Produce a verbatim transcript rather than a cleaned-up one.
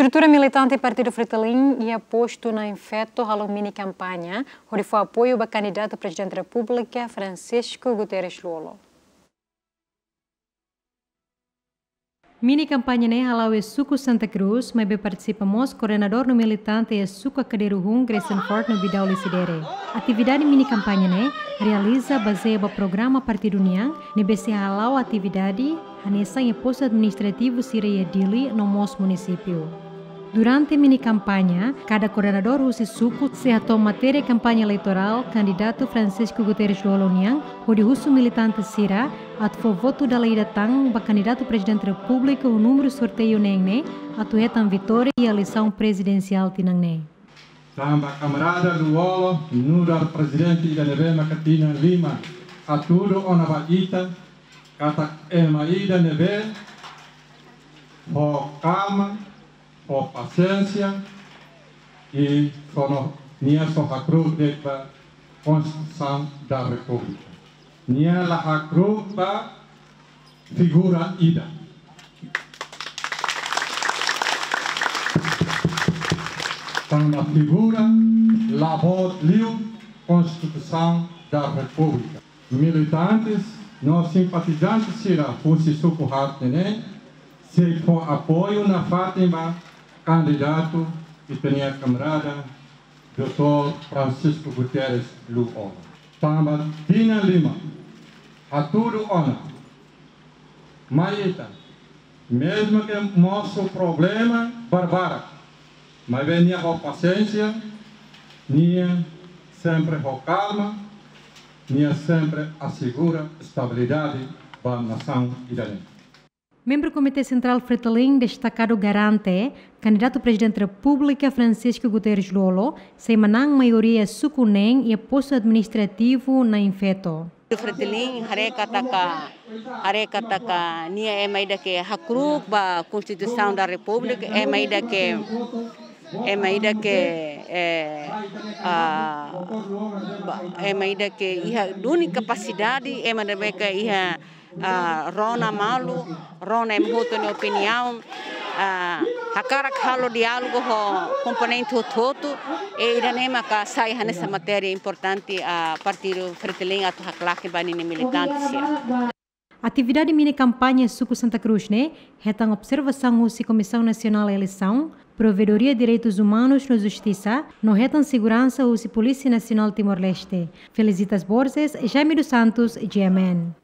Estrutura militante Partidu Fretilin iha postu Na'in Feto halo mini kampaña hodi fó apoiu ba kandidatu Prezidente Repúblika Francisco Guterres Lú-Olo. Mini kampaña ne'e hala'o iha suku Santa Cruz, maibé partisipa mós koordenadór no militante iha suku Akadero Hun, Gressenfort no Bidau Lecidere. Atividade mini kampaña ne'e realiza bazeia ba programa partidu nian, ne'ebé sei hala'o atividade hanesan iha postu administrativu sira iha Dili no mós munisípiu. Durante mini kampaña, kada koordenadór husi suku sei hato'o matéria kampaña eleitorál kandidatu Francisco Guterres Lú-Olo nian, hodi husu militante sira atu fó votu dala ida tan ba kandidatu Prezidente Repúblika ho númeru sorteiu neen ne'e atu hetan vitória iha eleisaun prezidensiál tinan ne'e. Tanba kamarada Lú-Olo nu'udar prezidente ida ne'ebé maka tinan lima hatudu ona ba ita katak ema ida ne'ebé ho kalma, ho pasiénsia, i só no, nia só hakru'uk de'it ba Konstituisaun da Repúblika. Nia la hakru'uk ba figura ida. Tanba figura la boot liu Konstituisaun da Repúblika. Militantes no simpatizante sira husi suku haat ne'e sei fó apoiu nafatin ba kandidatu ita-nia kamarada doutór Francisco Guterres Lú-Olo. Tanba tinan lima hatudu ona, mai ita, mezmu ke mosu problema barbarak, maibé nia ho pasiénsia, nia sempre ho kalma, nia sempre asegura estabilidade ba nasaun ida-ne'e. Membru Komité Sentrál Fretilin destakadu garante, kandidatu Prezidente Repúblika Francisco Guterres Lú-Olo sei manán maioria suku neen iha postu administrativu Na'in Feto. Fretilin haree katak, haree katak nia ema ida ke hakru'uk ba Konstituisaun da Repúblika, ema ida ke, ema ida ke, eh, ah, ba, ema ida ke iha duni kapasidade, ema ida ke iha, ah, rona malu, rona ema hotu nia opiniaun, ah, hakarak halo diálogu ho komponente hotu-hotu, i ida-ne'e maka sai hanesan matéria importante, ah, Partidu Fretilin atu haklaken ba ninia militante sira. Atividade mini kampaña suku Santa Cruz ne'e hetan observasaun husi Komisaun Nasionál Eleisaun, Provedoria Direitus Umanus no Justisa, no hetan seguransa husi Polísia Nasionál Timor-Leste. Felicitas Borges, Jaime dos Santos, G M N.